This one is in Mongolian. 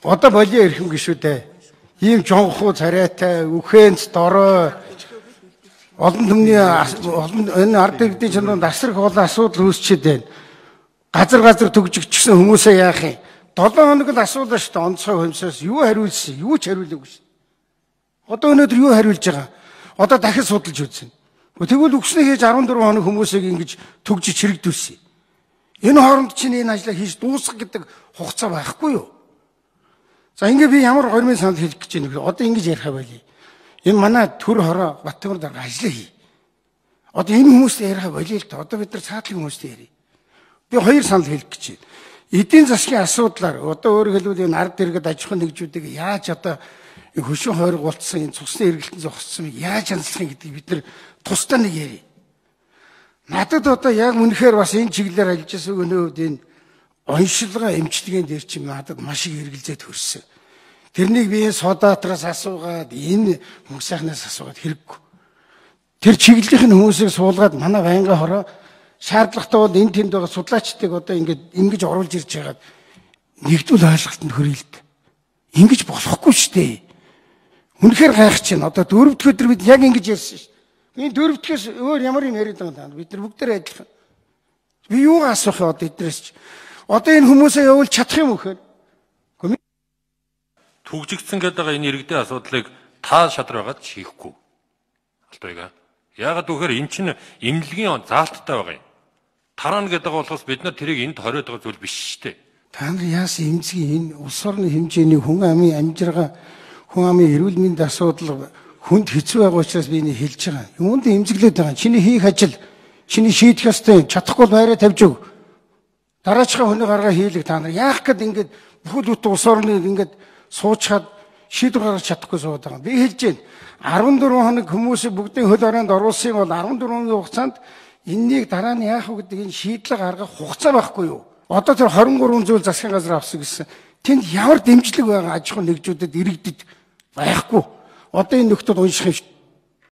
Одоо болио ирэх юм гişүү дээ. Ийм жонхуу царайтай, үхэнц дорой олон түмний энэ ард иргэдийн чонд асрах олон асуудал үүсчихэд байна. Газар төгжигдчихсэн хүмүүсээ яах юм? 7 хоног л асуудал шүү дээ. Онцгой хэмсээс юу хариулсан? Юу ч хариулаагүй шүү. Одоо өнөөдөр юу хариулж байгаа? Одоо дахиж судалж үзсэн. Тэгвэл өгснөө хийж 14 хоног хүмүүсийг ингэж төгжиж хэрэгдүүлсэн. Энэ хооронд чинь энэ ажлаа хийж дуусгах гэдэг хугацаа байхгүй юу? За ингээ би ямар гормын санал хэлэх гэж байна вэ? Одоо ингэж ярих байли. Энэ манай төр хороо Баттамар дарга ажиллаа хий. Одоо энэ хүмүүстэй ярих байли л да. Одоо бид нар цаатлын хүмүүстэй ярив. Би хоёр санал хэлэх гэж байна. Эдийн засгийн асуудлаар одоо өөрөөр хэлбэл энэ ард иргэд аж ахуйн нэгжүүдийг яаж одоо хөшөө хойрог болцсон энэ цусны эргэлтэн зогссон яаж хянслах гэдгийг бид нар тусдаа нэг ярив. Надад одоо яг үнэхээр бас энэ чиглэлээр ажиллаж байгаа өнөөд энэ оншилгоо эмчилгээнд дээр чи надад маш их эргэлзээд хөрсөн. Тэрнийг би энэ содатраас асуугаад энэ мөнгө сайхнаас асуугаад хэрэггүй. Тэр чиглэлийн хүмүүсийг суулгаад манай байнгын хороо шаардлагатай бол энэ тэнд байгаа судлаачдыг одоо ингэж оруулж ирж байгаад нэгдвэл ойлголтод хүрээлт. Ингэж болохгүй шүү дээ. Үнэхээр гайхаж байна. Одоо дөрөвдөх өдөр бид яг ингэж ярьсан шүү. Энэ дөрөвдөхөөс өөр ямар юм яриад байгаа юм. Бид нар бүгдээр адилхан. Би юу асуух вэ одоо эдрээс ч. Одоо энэ хүмүүсээ явуул чадах юм өгөхөр. Түгжигдсэн гэдэг энэ иргэдийн асуудлыг та шадар байгаад шийхгүй. Алтайга. Яагаад гэвэл эн чинь эмнэлгийн заалттай байгаа юм. Тарана гэдэг болохоос бид нар тэрийг энд хориод байгаа зүйл биш шүү дээ. Та нар яасан эмзгийн энэ улс орны хэмжээний хүн амын амжиргаа, хүн амын эрүүл мэндийн асуудал хүнд хэцүү байгаа учраас би энийг хэлж байгаа. Юунд эмзэглээд байгаа. Чиний хийх ажил, чиний шийдэх ёстой чадахгүй байраа тавьж өг. Дараачихаа хүний гаргаа хийлэг та нар яах гээд ингээд бүхэл бүтэн улс орны ингээд суучаад шийдвэр гаргаж чадахгүй суугаад байгаа. Би хэлж байна. 14 хоног хүмүүсийг бүгдийн хөл оройнд оруулсан бол 14 хоногийн хугацаанд энэнийг дараа нь яах вэ гэдэг энэ шийдлэг гаргах хугацаа байхгүй юу? Одоо тэр 23 зүйл засгийн газар авсан гэсэн. Тэнд ямар дэмжлэг байгаа аж ахуйн нэгжүүдэд иргэдэд байхгүй. Одоо энэ нөхдөд унших юм